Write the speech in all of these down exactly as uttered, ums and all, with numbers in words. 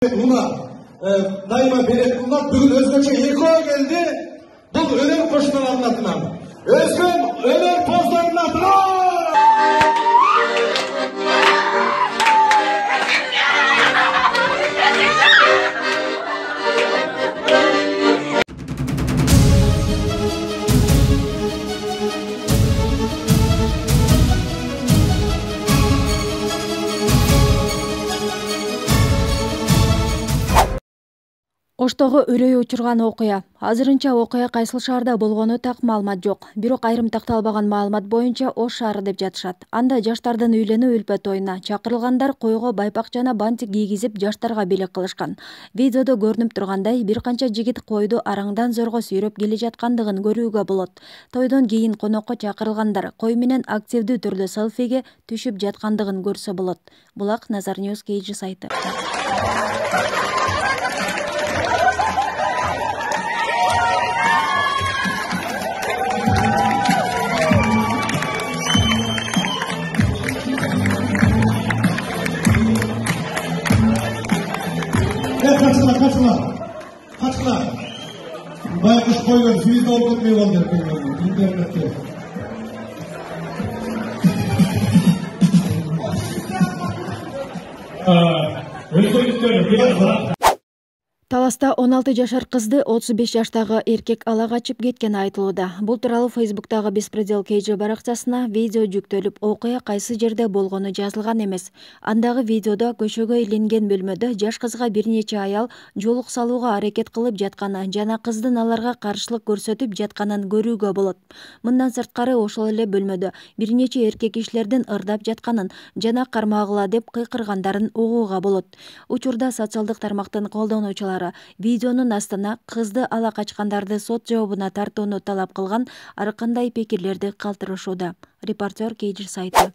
Мына дайыма беретинler бүгін өзгөчө экөө келди. Бұл өнер кошуналардын атынан. Өзгөн өнер поздорунун атынан. Оштогу үрөй учурган окуя. Азырынча окуя кайсыл шаарда болгону так маалымат жок. Бирок айрым такталбаган маалымат боюнча Ош шаары деп жатышат. Анда жаштардын үйлөнүү үлпө тоюна чакырылгандар койго байпак жана бантик кийгизип жаштарга бийлик кылышкан. Видеодо көрүнүп тургандай, бир канча жигит койду араңдан зорго сүйрөп келе жаткандыгын көрүүгө болот. Тойдон кийин конокко чакырылгандар кой менен активдүү түрдө селфиге түшүп жаткандыгын көрсө болот. Булак Назар Ньюс Кейджи сайты. Kaçtılar, kaçtılar, kaçtılar. Baykuş koyuyor, siz de olup etmeyi oldu internette. Özgürlükler, biraz daha. Таласта он алты жашар кызды отуз беш жаштагы эркек ала качып кеткени айтылууда. Бул тууралуу Фейсбуктагы Беспредел Кейджи баракчасына видео жүктөлүп, окуя кайсы жерде болгону жазылган эмес. Андагы видеодо көчөгө иленген бөлмөдө жаш кызга бир нече аял жоолук салууга аракет кылып жатканы жана кыздын аларга каршылык көрсөтүп жатканын көрүүгө болот. Мындан сырткары ошол эле бөлмөдө бир нече эркек кишилердин ырдап жатканын жана кармагыла деп кыйкыргандарын угууга болот. Учурда социалдык тармактын колдонуучулары видеонун астына кызды ала качкандарды сот жообуна тартууну талап кылган ар кандай пикирлерди калтырышууда. Репортер Кейджи сайты.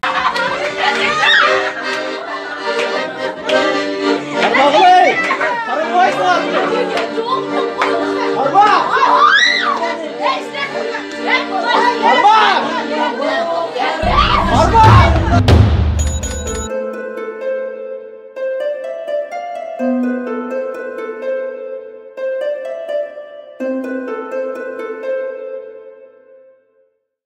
Arba!